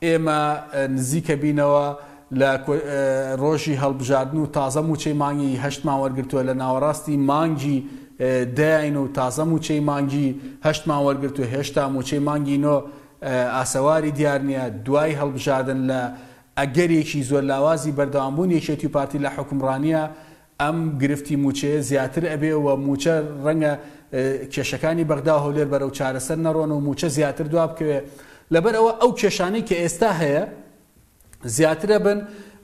ئێمە نزیکە بینەوە لە ڕۆژی هەڵبژاردن و تازە مووچەی مانگی هەشتمان وەرگرتووە، لە ناوەڕاستی مانگی دەین و تازە مووچەی مانگی هەشتمان وەرگرتووە، هێشتا مووچەی مانگی نۆ ئاسەواری دیار نییە، دوای هەڵبژاردن لە ئەگەرێکی زۆر لاوازی بەردەوامبوونی یەکێتی و پارتی لە حوکمڕانییە، ئەم گرفتی مووچەیە زیاتر ئەبێ و مووچە ڕەنگە کێشەکانی بەغدا و هەولێر بەرەو چارەسەر نەڕۆن و مووچە زیاتر دوا بکەوێ. لەبەر ئەوە ئەو کێشانەی کە ئێستا هەیە زیاتر ئەبن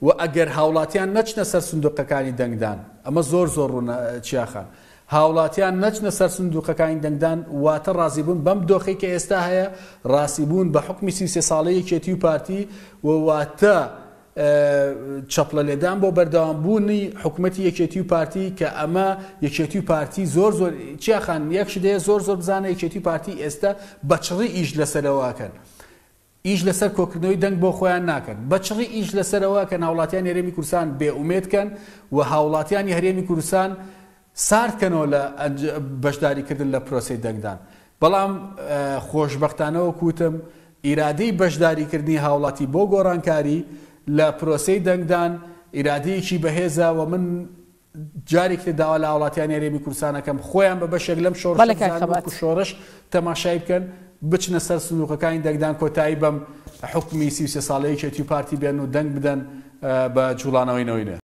و ئەگەر هاوڵاتیان نەچنە سەر سندوقەکانی دەنگدان، ئەمە زۆر زۆر ڕوونە چیا خان، هاوڵاتیان نەچنە سەر سندوقەکانی دەنگدان واتە ڕازیبوون بەم دۆخەی کە ئێستا هەیە، ڕاسیبوون بە حوکمی 33 ساڵەی یەکێتی و پارتی و واتە چەپڵە لێدان بۆ بەردەوام بوونی حکومەتی یەکێتی و پارتی کە ئەمە یەکێتی و پارتی زۆر زۆر چیا خان یەک شت هەیە زۆر زۆر بزانە یەکێتی و پارتی ئێستا بە چڕی ئیش لەسەرەوەکەن ئیش لەسەر کۆکردنەوەی دەنگ بۆ خۆیان ناکەن بە چڕی ئیش لەسەرەوە کە هاوڵاتیانی هەرێمی کوردستان بێ ئومێد کەن و هاوڵاتیانی هەرێمی کوردستان سارد کەنەوە لە بەشداریکردن لە پرۆسەی دەنگدان، بەڵام خۆشبەختانە وەک وتم ئیرادەی بەشداریکردنی هاوڵاتی بۆ گۆڕانکاری لە پرۆسەی دەنگدان ئیرادەیەکی بەهێزە و من جارێکی تر داوا لە هاوڵاتیانی هەرێمی کوردستان ئەکەم خۆیان بە بەشێک لەم شۆڕشە بەڵێ کاک بزانن خەبات. وەکو شۆڕش تەماشای بکەن بچنە سەر سندوقەکانی دەنگدان کۆتایی بەم حوکمی 33 ساڵەی یەکێتی و پارتی بێن و دەنگ بدەن بە جوڵانەوەی نەوەی نوێ.